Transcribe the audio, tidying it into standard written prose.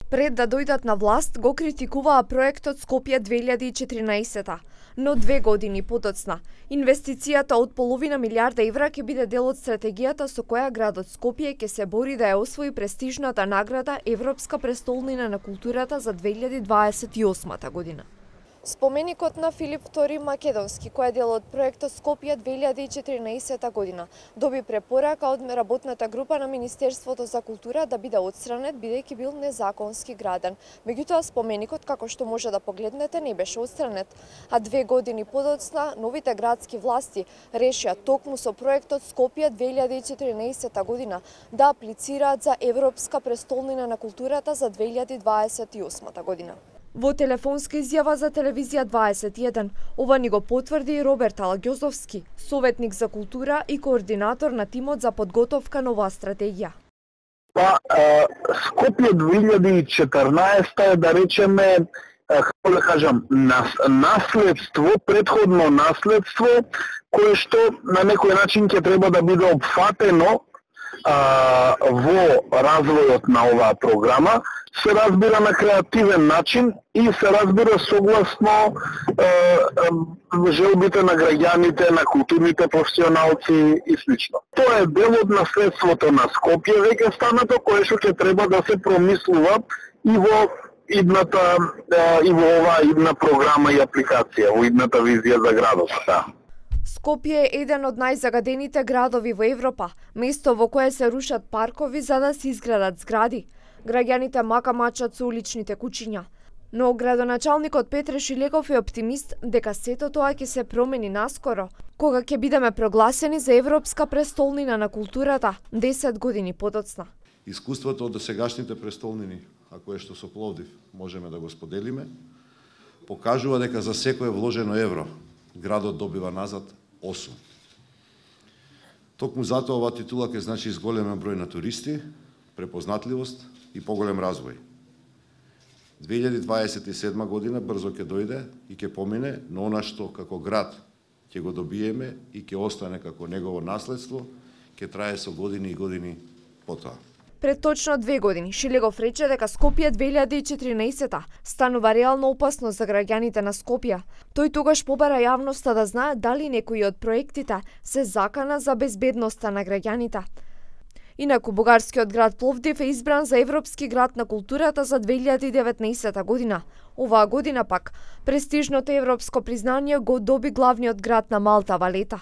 Пред да дојдат на власт, го критикуваа проектот Скопје 2014, но 2 години подоцна, инвестицијата од половина милиарда евра ќе биде дел од стратегијата со која градот Скопје ќе се бори да ја освои престижната награда Европска престолнина на културата за 2028 година. Споменикот на Филип II Македонски, кој е дел од проектот Скопје 2014 година, доби препорака од работната група на Министерството за култура да биде отстранет бидејќи бил незаконски граден. Меѓутоа споменикот, како што може да погледнете, не беше отстранет, а 2 години подоцна новите градски власти решија токму со проектот Скопје 2014 година да аплицираат за Европска престолнина на културата за 2028 година. Во телефонска изјава за телевизија 21, ова ни го потврди и Роберт Алагјозовски, советник за култура и координатор на тимот за подготовка на оваа стратегија. Скопје 2014 е, да речеме, како да кажам, наследство, предходно наследство, кое што на некој начин ќе треба да биде опфатено во развојот на оваа програма, се разбира на креативен начин и се разбира согласно желбите на граѓаните, на културните професионалци и слично. Тоа е дел од наследството на Скопје веќе станато, кое што ќе треба да се промислува и во оваа идна програма и апликација, во идната визија за градот. Скопје е еден од најзагадените градови во Европа, место во кое се рушат паркови за да се изградат згради. Граѓаните мака-мачат со уличните куќиња. Но градоначалникот Петре Шилегов е оптимист дека сето тоа ќе се промени наскоро, кога ќе бидеме прогласени за Европска престолнина на културата 10 години подоцна. Искуството од досегашните престолнини, а кое што со Пловдив можеме да го споделиме, покажува дека за секое вложено евро градот добива назад 8. Токму затоа оваа титула ќе значи зголемен број на туристи, препознатливост и поголем развој. 2027 година брзо ќе дојде и ќе помине, но она што како град ќе го добиеме и ќе остане како негово наследство, ќе трае со години и години потоа. Пред точно 2 години Шилегов рече дека Скопје 2014 станува реално опасно за граѓаните на Скопје. Тој тогаш побара јавноста да знае дали некои од проектите се закана за безбедноста на граѓаните. Инаку бугарскиот град Пловдив е избран за Европски град на културата за 2019 година. Оваа година пак престижното европско признание го доби главниот град на Малта Валета.